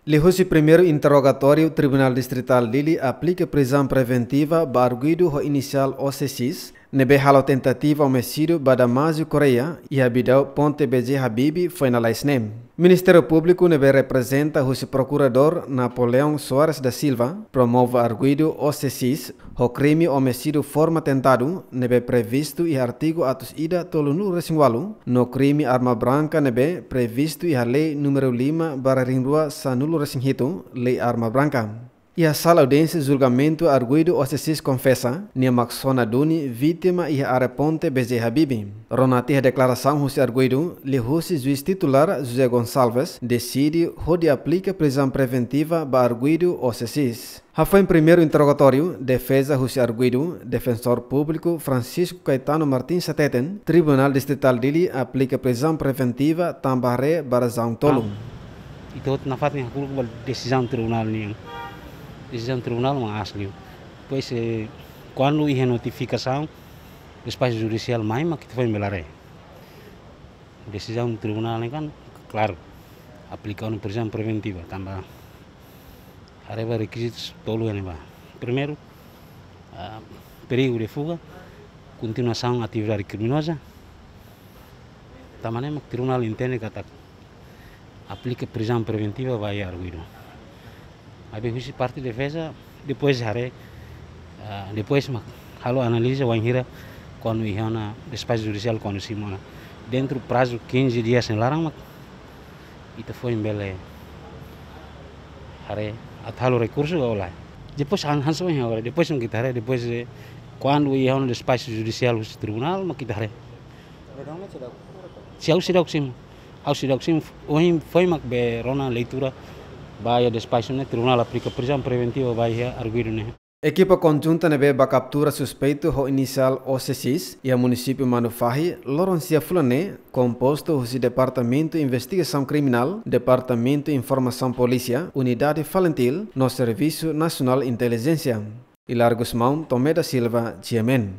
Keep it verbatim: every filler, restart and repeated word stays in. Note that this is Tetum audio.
Liuhusi primeiru interrogatóriu, Tribunál Distritál Dili aplika prizaun preventiva ba arguidu ho inisiál O C seis, ne'ebé halo tentativa omisidiu ba Damásio Correia iha Bidau Ponte B J Habibie foin lalais ne'e. Ministériu Públiku ne'ebé reprezenta husi Prokuradór Napoleão Soares da Silva promove arguidu O C seis ho krime omisidiu forma tentadu ne'ebé previstu iha artigu atus ida tolunulu-resin-ualu, no krime arma branka ne'ebé previstu iha lei númeru lima barra rihun rua sanulu-resin-hitu, Lei Arma Branka. Iha sala audiénsia julgamentu, arguidu O C seis konfesa, nia mak sona duni vítima iha área Ponte B J Habibie. Rona tiha deklarasaun husi arguidu, liuhusi juís titulár José Gonçalves deside hodi aplika prizaun preventiva ba arguidu O C seis. Hafoin primeiru interrogatóriu, defeza husi arguidu, Defensór Públiku Francisco Caetano Martins hateten, Tribunál Distritál Dili aplika prizaun preventiva tanba haree ba razaun tolu. Ita hotu nafatin hakru'uk ba desizaun tribunál nian. Desizaun tribunál mak aas liu. Depois, eh, kuandu iha notifikasaun despaxu judisiál mai mak ita foin bele haree. Desizaun tribunál ne'e kan klaru, aplika ona prizaun preventiva tanba haree ba rekizitus tolu ne'ebá. Primeiru, ah, perigu de fuga, kontinuasaun atividade kriminoza. Tanba ne'e mak tribunál entende katak aplika prizaun preventiva ba iha arguidu. Maibé husi parte defeza, depois haree, ah, depois mak halo analiza wainhira kuandu iha ona despaxu judisiál, kuandu simu ona dentru prazu quinze dias nia laran mak ita foin bele haree atu halo rekursu ka lae. Depois han-, hanesan ohin ha'u haree, depois mak ita haree, depois, eh, kuandu iha ona despaxu judisiál husi tribunál mak ita haree. Se ha'u seidauk simu, ha'u seidauk simu, ohin foin mak be rona leitura ba iha despaxu ne'e, tribunál aplika prizaun preventiva ba iha arguidu ne'e. Ekipa konjunta ne'ebé bá kaptura suspeitu ho inisiál O C seis iha munisípiu Manufahi, loron sia fulan ne'e, kompostu husi Departamentu Investigasaun Kriminál, Departamentu Informasaun Polísia, Unidade Falintil, no Servisu Nasionál Intelijénsia. Hilario Gusmão, Tomé da Silva, G M N.